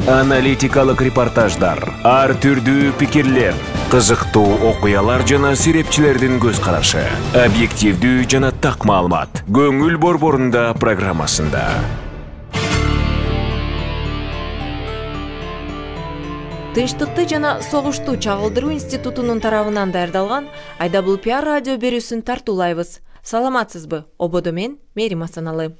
Аналитикалык репортаждар, ар түрдүү пикирлер, кызыктуу окуялар жана серепчилердин көз карашы, объективдүү жана так маалымат. Көңүл борборунда программасында. Тынчтыкты жана согушту чагылдыруу институтунун тарабынан даярдалган Айдабул пиар радио берүүсүн тартуулайбыз. Саламатсызбы? Ободо мен Мерим Асаналы.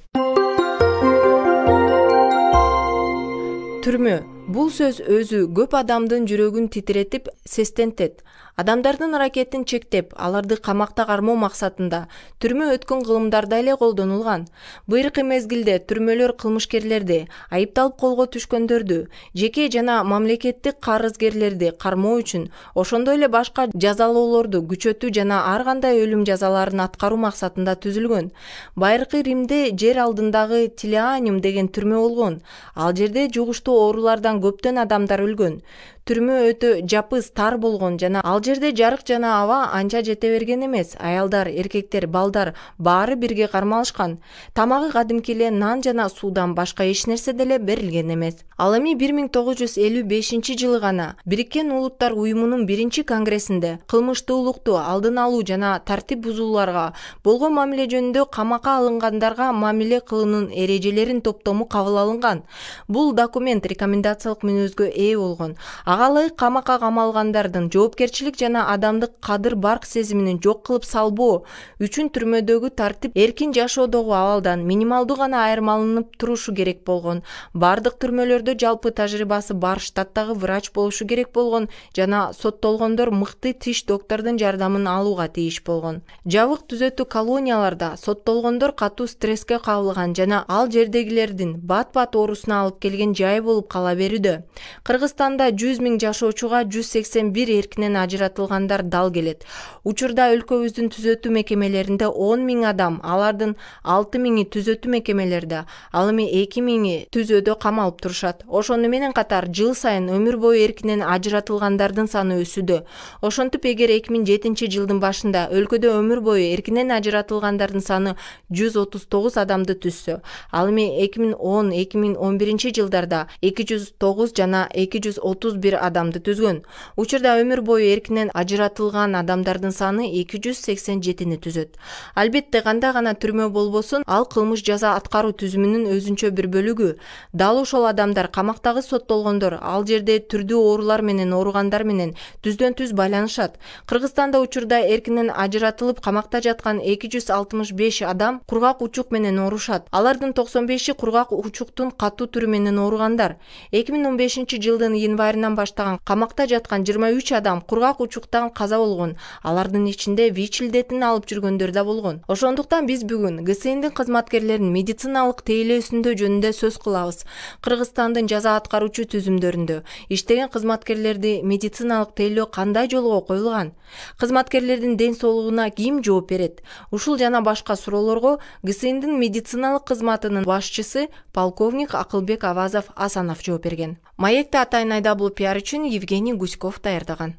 Түрмө. Бул сөз өзү көп адамдын жүрөгүн титиретип, сестентет. Адамдардын аракетин чектеп, аларды камакта кармоо максатында түрмө өткөн кылымдарда эле колдонулган. Быйыркы мезгилде түрмөлөр кылмышкерлерди, айыпталып колго түшкөндөрдү, жеке жана мамлекеттик карызгерлерди кармоо үчүн, ошондой эле башка жазалоолорду күчөтүү жана ар кандай өлүм жазаларын аткаруу максатында түзүлгөн. Байыркы Римде жер алдындагы Тилианиум деген түрмө болгон. Ал жерде жугуштуу оорулардан көптөн адамдар өлгөн. Түрмө өтө жапыз, тар болгон жана ал жерде жарык жана аба анча жете берген эмес. Аялдар, эркектер, балдар баары бирге кармалышкан. Тамагы кадимки эле нан жана суудан башка эч нерсе деле берилген эмес. Ал эми 1955-жылы гана Бириккен Улуттар уюмунун 1-конгрессинде кылмыштуулукту алдын алуу жана тартип бузууларга болгон мамиле жөнүндө камакка алынгандарга мамиле кылуунун эрежелерин топтому кабыл алынган. Бул документ рекомендациялык мүнөзгө ээ болгон. Ага ылайык камакка камалгандардын жоопкерчилик жана адамдык кадыр-барк сезимин жок кылып салбоо үчүн түрмөдөгү тартип эркин жашоодогу абалдан минималдуу гана айырмаланып турушу керек болгон. Бардык түрмөлөрдө жалпы тажрыйбасы бар штаттагы врач болушу керек болгон жана соттолгондор мыкты тиш доктордун жардамын алууга тийиш болгон. Жабык түзөтүү колонияларда соттолгондор катуу стресске кабылган жана ал жердегилердин бат-бат оорусуна алып келген жай болуп кала берүүдө. Кыргызстанда 100 000 жашоочуга 181 эркинен ажыратылгандар дал келет. Учурда өлкөбүздүн түзөтүү мекемелеринде 10 000 адам, алардын 6 000-и түзөтүү мекемелерде, ал эми 2 000-и түзөөдө камалып турушат. Ошону менен катар жыл сайын өмүр бою эркинен ажыратылгандардын саны өсүүдө. Ошентип, эгер 2007-жылдын башында өлкөдө өмүр бою эркинен ажыратылгандардын саны 139 адамды түзсө, ал эми 2010-2011 жылдарда 209 жана 231 адамды түзгөн. Учурда өмүр бою эркинен ажыратылган адамдардын саны 287-ни түзөт. Албетте, кандай гана түрмө болбосун, ал кылмыш жаза аткаруу түзүмүнүн өзүнчө бир бөлүгү. Дал ошол адамдар, камактагы соттолгондор, ал жерде түрдүү оорулар менен ооругандар менен түздөн-түз байланышат. Кыргызстанда учурда эркинен ажыратылып камакта жаткан 265 адам кургак учук менен оорушат. Алардын 95-и кургак учуктун катуу түрү менен ооругандар. 2015-жылдын январынан баштаган камакта жаткан 23 адам кургак учуктан каза болгон. Алардын ичинде ВИЧ илдетин алып жүргөндөр да болгон. Ошондуктан биз бүгүн ГСИНдин кызматкерлеринин медициналык тейлөөсүндө жөнүндө сөз кылабыз. Кыргызстандын жаза аткаруучу түзүмдөрүндө иштеген кызматкерлерди медициналык тейлөө кандай жолго коюлган? Кызматкерлердин ден соолугуна ким жооп берет? Ушул жана башка суроолорго ГСИНдин медициналык кызматынын башчысы полковник Акылбек Авазов Асанов жооп берген. Маекти атайын Айдабул пиар үчүн Евгений Гуськов даярдаган.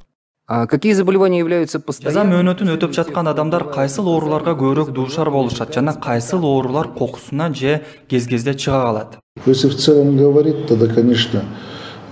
Какие заболевания являются постоянными? Жаза мөөнөтүн өтөп жаткан адамдар кайсыл ооруларга көбүрөөк дуушар болушат жана кайсыл оорулар кокусунан же кез-кезде чыга калат? Если в целом говорить, тогда, конечно,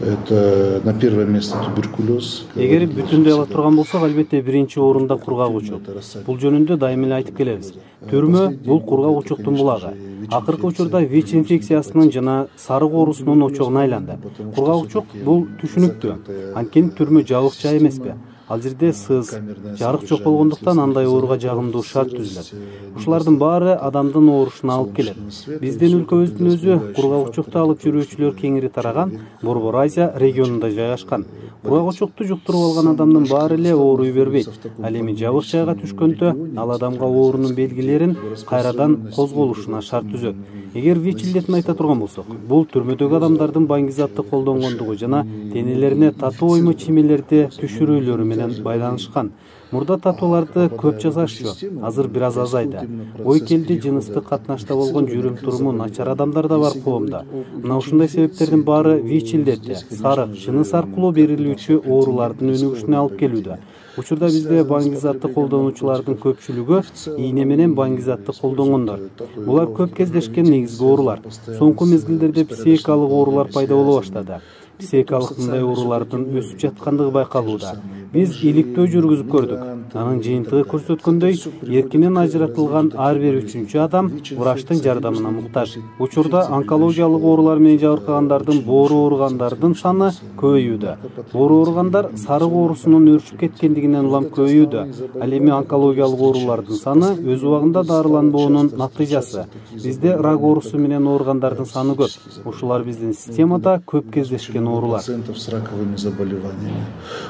это на первое место туберкулез. Эгер бүтүндөй ала турган болсок, албетте биринчи орунда кургак учук. Бул жөнүндө дайыма эле айтып келебиз. Түрмө бул кургак учуктун булагы. Акыркы учурда ВИЧ инфекциясынын жана сарык оорусунун очогуна айланды. Кургак учук бул түшүнүктүү. Анткени түрмө жабык жай эмеспи? Ал жерде сыз, жарык жок болгондуктан андай ооруга жагымдуу шарт түзүлөт. Ушулардын баары адамдын оорушуна алып келет. Биздин өлкөбүздүн өзү кургак учукту алып жүрүүчүлөр кеңири тараган, Борбор Азия регионунда жайгашкан. Кургак учукту жуктуруп алган адамдын баары эле ооруй бербейт. Ал эми жабык жайга түшкөндө ал адамга оорунун белгилерин кайрадан козголушуна шарт түзөт. Эгер ВИЧ илдетин айта турган болсок, бул түрмөдөгү адамдардын баңгизатты колдонгондугу жана денелерине татуу оймо чимелерди түшүрүүлөрү менен байланышкан. Мурда татууларды көп жасашчу, азыр бир аз азайды. Ой келди жыныстык катнашта болгон жүрүм-туруму начар адамдар да бар коомдо. Мына ушундай себептердин баары ВИЧ илдети, сарык, жыныс аркылуу берилүүчү оорулардын өнүгүшүнө алып келүүдө. Учурда бизде баңгизатты колдонуучулардын көпчүлүгү ийне менен баңгизатты колдонгондор. Булар көп кездешкен негизги оорулар. Соңку мезгилдерде психикалык оорулар пайда боло баштады. психикалык мындай оорулардын өсүп жаткандыгы байкалууда. Биз иликтөө жүргүзүп көрдүк. Анын жыйынтыгы көрсөткөндөй, эркинен ажыратылган ар бир 3-чү адам врачтын жардамына муктаж. Учурда онкологиялык оорулар менен жабыркагандардын, боору ооругандардын саны көбөйүүдө. Боору ооругандар сарык оорусунун өрчүп кеткендигинен улам көбөйүүдө. Ал эми онкологиялык оорулардын саны өз убагында дарыланбоонун натыйжасы. Бизде рак оорусу менен ооругандардын саны көп. Ушулар биздин системада көп кездешкен оорулар. С раковыми заболеваниями.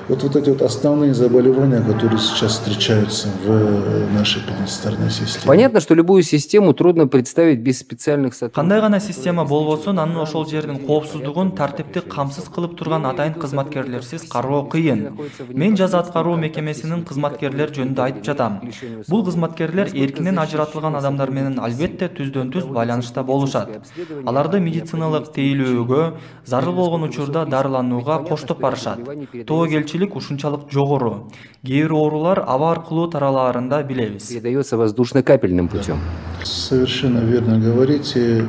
Вот эти вот основные заболевания, которые сейчас встречаются в нашей планетарной системе. Понятно, что любую систему трудно представить без специальных сотрудников. Кандай гана система болбосун, анын ошол жердин коопсуздугун, тартипти камсыз кылып турган атайын кызматкерлерсиз кароо кыйын. Мен жаза аткаруу мекемесинин кызматкерлери жөнүндө айтып жатам. Бул кызматкерлер эркинен ажыратылган адамдар менен албетте түздөн-түз байланышта болушат. Аларды медициналык тейлөөгө, зарыл болгон учурда дарыланууга коштоп барышат. Тобокелчилик ушунчалык жогору. Кээ бир оорулар аба аркылуу таралаарын билебиз. Передается воздушно-капельным путем. Совершенно верно говорите.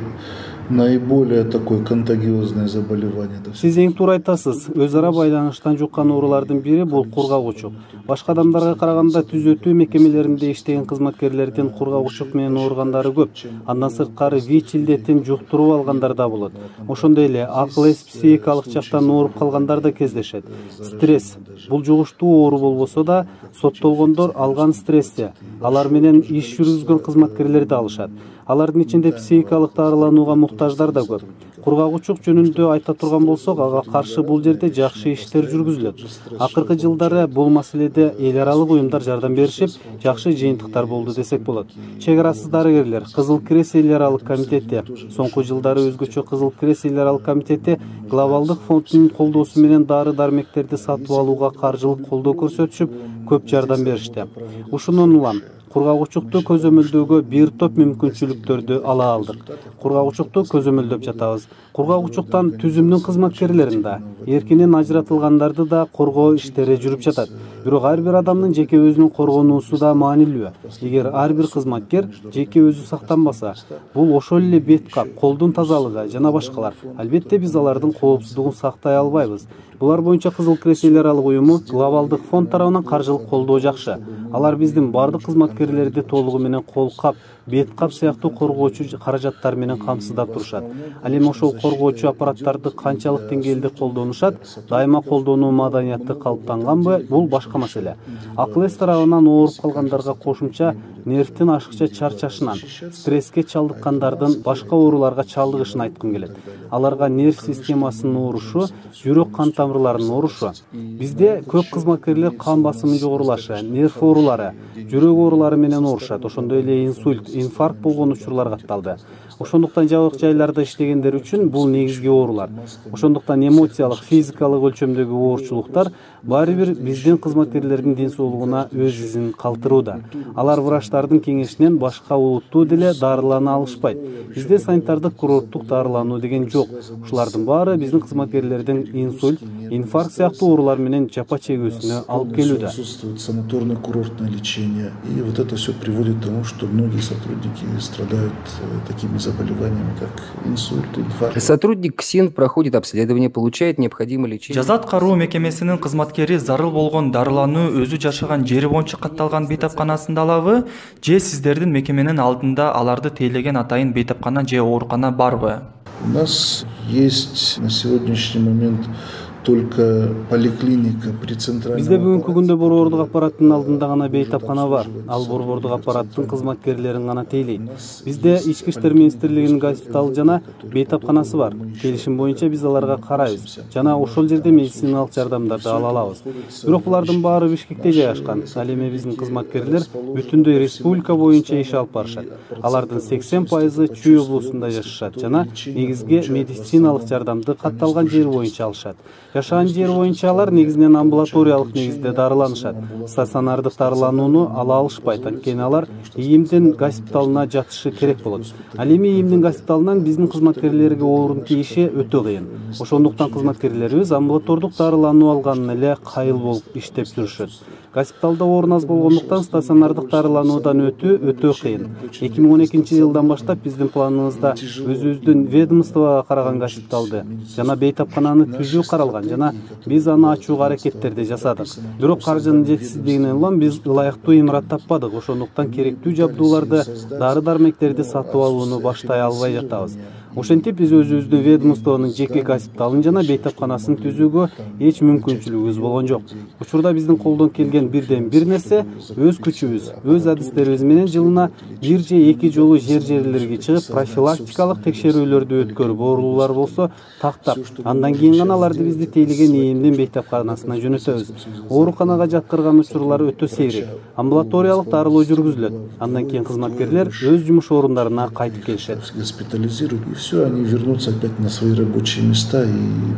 Наиболее такое контагиозное заболевание. Сиз эң туура айтасыз. Өз ара байланыштан жуккан оорулардын бири бул кургагучук. Башка адамдарга караганда түзөтүү мекемелеринде иштеген кызматкерлердин кургагучук менен ооругандары көп. Андан сырткары ВИЧ илдетин жуктуруп алгандар да болот. Ошондой эле акыл эс психикалык жактан ооруп калгандар да кездешет. Стресс бул жугуштуу оору болбосо да, соттолгондор алган стрессте алар менен иш жүргүзгөн кызматкерлер да алышат. Алардын ичинде психикалык дарыланууга муктаждар да көп. Кургагучук жөнүндө айта турган болсок, ага каршы бул жерде жакшы иштер жүргүзүлөт. Акыркы жылдары бул маселеде эл аралык уюмдар жардам беришип, жакшы жыйынтыктар болду десек болот. Чек арасыз дарыгерлер, Кызыл Крест эл аралык комитети, соңку жылдары өзгөчө Кызыл Крест эл аралык комитети глобалдык фондунун колдоосу менен дары-дармектерди сатып алууга каржылык колдоо көрсөтүшүп, көп жардам беришти. Ушунун улам кургагучукту көзөмөлдөөгө бир топ мүмкүнчүлүктөрдү ала алдык. Кургагучукту көзөмөлдөп жатабыз. Кургагучуктан түзүмдүн кызматкерлерин да, эркинен ажыратылгандарды да коргоо иштери жүрүп жатат. Бирок ар бир адамдын жеке өзүнүн коргонуусу да маанилүү. Эгер ар бир кызматкер жеке өзү сактанбаса, бул ошол эле бет кап, колдун тазалыгы жана башкалар. Албетте биз алардын коопсуздугун сактай албайбыз. Булар боюнча Кызыл Крест эл аралык уюму глобалдык фонд тарабынан каржылык колдоо жакшы. Алар биздин бардык кызматкерлерди толугу менен кол кап, бет кап сыяктуу коргоочу каражаттар менен камсыздап турушат. Ал эми ошол коргоочу аппараттарды канчалык деңгээлде колдонушат, дайыма колдонуу маданияты калыптанганбы, бул башка маселе. Акыл эс тарабынан ооруп калгандарга кошумча нервтин ашыкча чарчашынан, стресске чалдыккандардын башка ооруларга чалдыгышын айткым келет. Аларга нерв системасынын оорушу, жүрөк кан тамырларынын оорушу. Бизде көп кызматкерлер кан басымы жогорулашы, нерв оорулары, жүрөк оорулары менен оорушат. Ошондой эле инсульт, инфаркт болгон учурлар катталды. Ошондуктан жабык жайларда иштегендер үчүн бул негизги оорулар. Ошондуктан эмоциялык, физикалык өлчөмдөгү оорчулуктар баары бир биздин кызматкерлердин ден соолугуна өз изин калтырууда. Алар врачтардын кеңешинен башка улуттуу деле дарылана алышпайт. Бизде санитардык курорттук дарылануу деген жок. Ушулардын баары биздин кызматкерлердин инсульт, инфаркт сыяктуу оорулар менен жапа чегүүсүнө алып келүүдө. Санаторно-курортное лечение. И вот это все приводит к тому, что многие сотрудники страдают такими заболеваниями, как инсульт, инфаркт. Сотрудник КСИН проходит обследование, получает необходимое лечение. Жаза аткаруу мекемесинин кызматкери зарыл болгон дарылануу өзү жашаган жери боюнча катталган бейтапканасында алабы, же сиздердин мекеменин алдында аларды тейлеген атайын бейтапкана же оорукана барбы? У нас есть на сегодняшний момент только поликлиника при центральном. Бизде бүгүнкү күндө борбордук аппараттын алдында гана бейтапкана бар. Ал борбордук аппараттын кызматкерлерин гана тейлейт. Бизде Ички иштер министрлигинин госпиталы жана бейтапканасы бар. Келишим боюнча биз аларга карайбыз жана ошол жерде медициналык жардамдарды ала алабыз. Бирок булардын баары Бишкекте жайгашкан. Ал эми биздин кызматкерлер бүтүндөй республика боюнча иш алып барышат. Алардын 80% Чүй облусунда жашашат жана негизги медициналык жардамды катталган жер боюнча алышат. Жашаган жер боюнча алар негизинен амбулаториялык негизде дарыланышат. Стационардык дарыланууну ала алышпайт, анткени алар ИИМдин госпиталына жатышы керек болот. Ал эми ИИМдин госпиталынан биздин кызматкерлерге орун тийиши өтө кыйын. Ошондуктан кызматкерлерибиз амбулатордук дарылануу алганын эле кайыл болуп иштеп жүрүшөт. Госпиталда орун аз болгондуктан стационардык дарылануудан өтө кыйын. 2012-жылдан баштап биздин планыбызда өзүбүздүн ведомствого караган госпиталды жана бейтапкананы түзүү каралган жана биз аны ачууга аракеттерди жасадык. Бирок каржынын жетишсиздигинен улам биз ылайыктуу имарат таппадык. Ошондуктан керектүү жабдууларды, дары-дармектерди сатып алууну баштай албай жатабыз. Ошентип биз өзүбүздүн ведомствонун жеке госпиталын жана бейтапканасын түзүүгө эч мүмкүнчүлүгүбүз болгон жок. Учурда биздин колдон келген бирден бир нерсе өз күчүбүз, өз адистерибиз менен жылына 1 же 2 жолу жерлерге чыгып профилактикалык текшерүүлөрдү өткөрүп, оорулуулар болсо тактап, андан кийин гана аларды бизди тейлеген ИИМдин бейтапканасына жөнөтөбүз. Ооруканага жаткырган учурлар өтө сейрек. Амбулаториялык дарылоо жүргүзүлөт. Андан кийин кызматкерлер өз жумуш орундарына кайтып келишет. Все, они вернутся опять на свои рабочие места и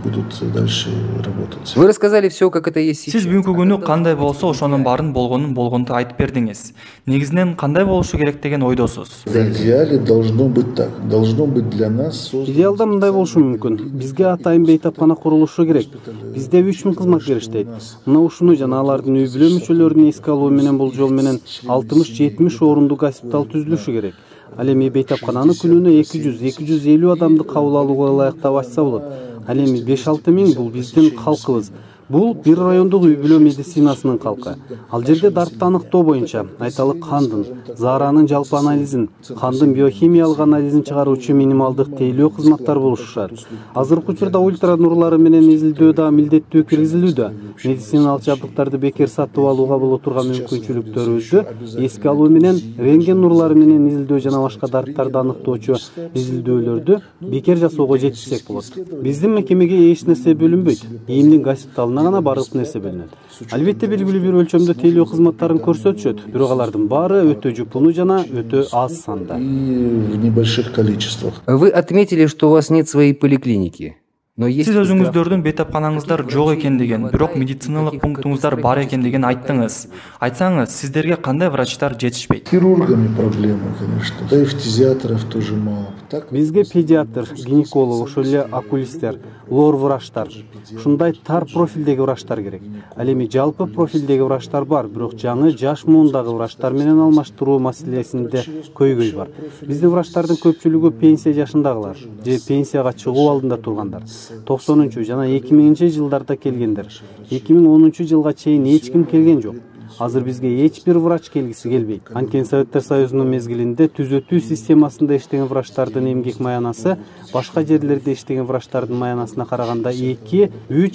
будут дальше работать. Вы рассказали все, как это есть сейчас. Сиз бүгүнкү күнү кандай болсо ошонун баарын болгонду айтып бердиңиз. Негизинен кандай болушу керек деген ойдосуз? В идеале должно быть так. Должно быть для нас. Идеалда мындай болушу мүмкүн. Бизге атайын бейтапкана курулушу керек. Бизде 3000 кызматкер иштейт. Мына ушуну жана алардын үй бүлө мүчөлөрүнүн эске алуу менен бул жол менен 60-70 орундуу госпитал түзүлүшү керек. Ал эми бейтапкананы күнүнө 200-250 адамды кабыл алууга ылайыктап ачса болот. Ал эми 5-6 миң бул биздин калкыбыз. Бул бир райондук үй бүлө медицинасынын калкы. Ал жерде дартты аныктоо боюнча айталы кандын, зааранын жалпы анализин, кандын биохимиялык анализин чыгаруучу минималдык тейлөө кызматтар болушушат. Азыркы учурда ультра нурлары менен изилдөө да милдеттүү киргизилүүдө. Медициналык жабдыктарды бекер сатып алууга боло турган мүмкүнчүлүктөрүбүздү эске алуу менен рентген нурлары менен изилдөө жана башка дарттарды аныктоочу изилдөөлөрдү бекер жасоого жетишсек болот. Биздин мекемеге эч нерсе бөлүнбөйт. ИИМдин госпиталына гана бардык нерсе бөлүнөт. Албетте белгилүү бир өлчөмдө тейлөө кызматтарын көрсөтүшөт, бирок алардын баары өтө жупуну жана өтө аз санда. В небольших количествах. Вы отметили, что у вас нет своей поликлиники. Сиз өзүңүздөрдүн бейтапканаңыздар жок экендигин, бирок медициналык пунктуңуздар бар экендигин айттыңыз. Айтсаңыз, сиздерге кандай врачтар жетишпейт? Хирургами проблемы, конечно. Да и фтизиаторов тоже мало. Бизге педиатр, гинеколог, ошол эле окулисттер, лор врачтар, ушундай тар профилдеги врачтар керек. Ал эми жалпы профилдеги врачтар бар, бирок жаңы жаш муундагы врачтар менен алмаштыруу маселесинде көйгөй бар. Биздин врачтардын көпчүлүгү пенсия жашындагылар же пенсияга чыгуу алдында тургандар. 90 жана 2000 жылдарда келгендер. 2010 жылга чейин эч ким келген жок. Азыр бизге эч бир врач келгиси келбейт. Анткени Советтер Союзунун мезгилинде түзөтүү системасында иштеген врачтардын эмгек маянасы башка жерлерде иштеген врачтардын маянасына караганда 2-3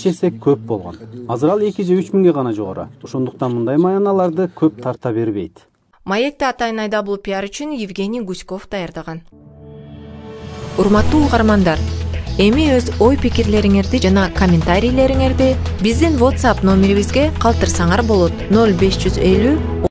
эсе көп болгон. Азыр ал 2 же 3 миңге гана жогору. Ошондуктан мындай маяналарды көп тарта бербейт. Маекти атайын айдабул пиар үчүн Евгений Гуськов даярдаган. Урматтуу угармандар, эми өз ой-пикирлериңерди жана комментарийлериңерди биздин WhatsApp номерибизге калтырсаңар болот. 0550